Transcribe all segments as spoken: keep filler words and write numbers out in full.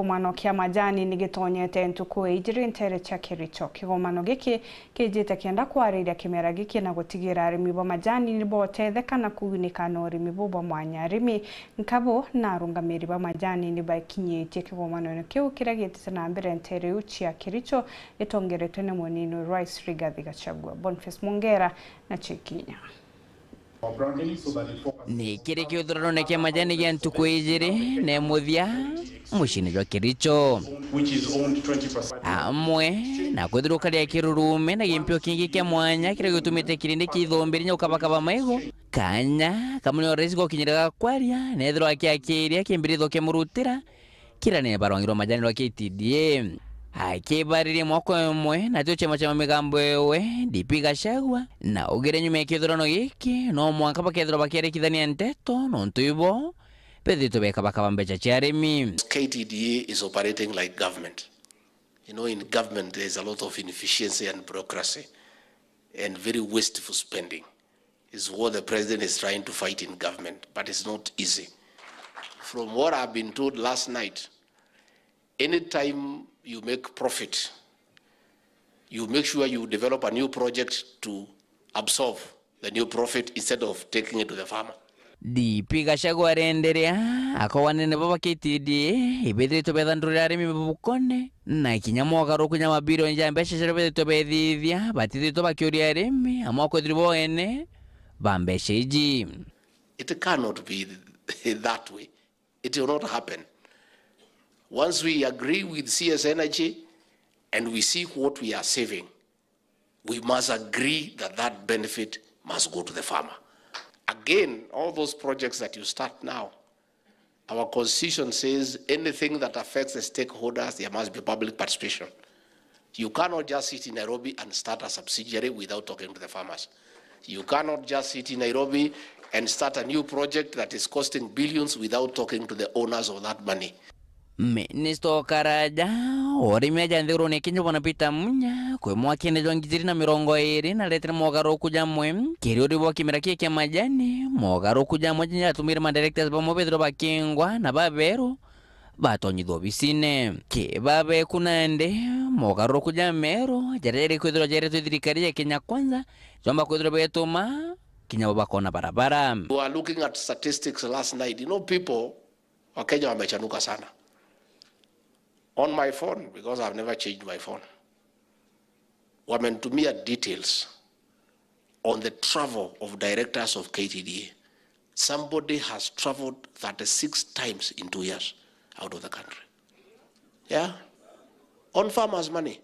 Kigomano kia majani ni gitonyete ntuku ijiri ntere cia Kericho. Kigomano giki kijite kenda kwariria kimera giki na gutigira arimi ba majani ni botetheka na kuunika na urimi buu bwa mwanya. Arimi nkabo na arungamiri ba majani ni bakinyitie kigomanone kiu kiria gitite na mbere ntere iu cia Kericho, gitongeretwe ni munini Rais Rigathi Gachagua. Boniface Mungera na Chikinya. Ni kiri kiuthuranone kia majani gia ntuku ijiri na muthia muciini jwa Kericho. Amwe na kwithirwa ukaria kirurume na gimpio kingi kia mwanya kiria gitumite kirindi kia ithombe rinya ukabakaba maigo, kanya kamwe ni rais gokinyire ga kwaria, nethirwa akiakiria kimbiritho kimurutira, kira ni barwangirwa majani rwa K T D A. Akibariria mwaka umwe natio chama cha migambo ewe D P Gachagua, na ugire nyuma ya kithurano giki no mwanka bakethirwa bakiarikithania nteto, nontu ibo bethitwe bekabakaba mbecha cia arimi. K T D A is operating like government. You know, in government there is a lot of inefficiency and bureaucracy and very wasteful spending. Is what the president is trying to fight in government, but it's not easy. From what I've been told last night, anytime you make profit, you make sure you develop a new project to absorb the new profit instead of taking it to the farmer. D P Gachagua arenderea, akauga anene baba K T D A ibithiritwe bethandurira arimi mabukone, na kinya mogaruku ja mabilioni ja mbeca jaria bethitwe bethithia, batithitwe bakiuria arimi, amwe akwithirwa bo ene ba mbeca iji. It cannot be that way. It will not happen. Once we agree with C S Energy and we see what we are saving, we must agree that that benefit must go to the farmer. Again, all those projects that you start now, our constitution says anything that affects the stakeholders, there must be public participation. You cannot just sit in Nairobi and start a subsidiary without talking to the farmers. You cannot just sit in Nairobi and start a new project that is costing billions without talking to the owners of that money. Minista o karaja wa urimi aja nthigurune ya Kenya, bwana Peter Munya, kwi mwakene jwa ngiri ijiri na mirongo iri naretire mogaruruku jamwe kiri uri bwa kimera kii kia majani. Mogaruruku jamwe jatumire ma directors bamwe bethirwa bakingwa na baberu batonyithwa obisine. Ki babeku nandi, mogaruruku ja meru jaria jari kwithirwa jaretwe thirikari ya Kenya Kwanza jomba kwithirwa betuma kinya bo bakona barabara. You are looking at statistics last night. You know, people Wakenya wamechanuka sana. On my phone, because I've never changed my phone, wamenitumia details on the travel of directors of K T D A. Somebody has traveled thirty-six times in two years out of the country. Yeah? On farmers' money.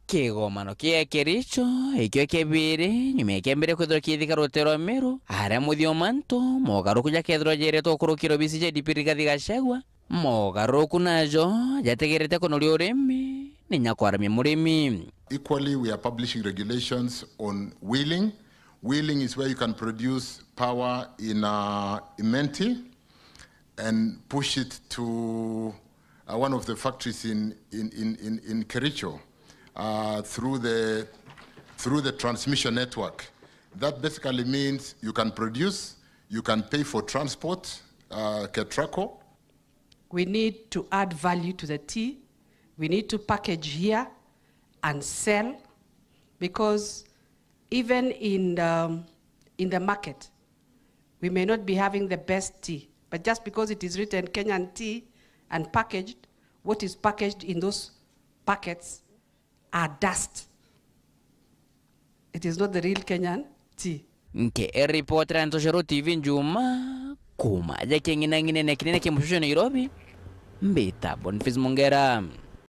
Kigomano kia Kericho ikio kia biri nyuma ya kia mbere kwithirwa kiithika rute rwa Meru, aria muthia o mantu mogaruruku jakethirwa jeretwe ukurukira obisi ja D P Rigathi Gachagua. Mogaruruku najo jategerete kunoria urimi ni nyakwaramia murimi. Equally, we are publishing regulations on wheeling. Wheeling is where you can produce power in, uh, Imenti and push it to, uh, one of the factories in, in, in, in, in Kericho, uh, through the, through the transmission network. That basically means you can produce, you can pay for transport, uh, Ketraco. We need to add value to the tea. We need to package here and sell, because even in, um, in the market, we may not be having the best tea, but just because it is written Kenyan tea and packaged, what is packaged in those packets are dust. It is not the real Kenyan tea. Nke eripotera Ntoshero T V Njuma, kuma aja king'inang'inene kinene kia mucucio Nairobi, mbita Boniface Mungera.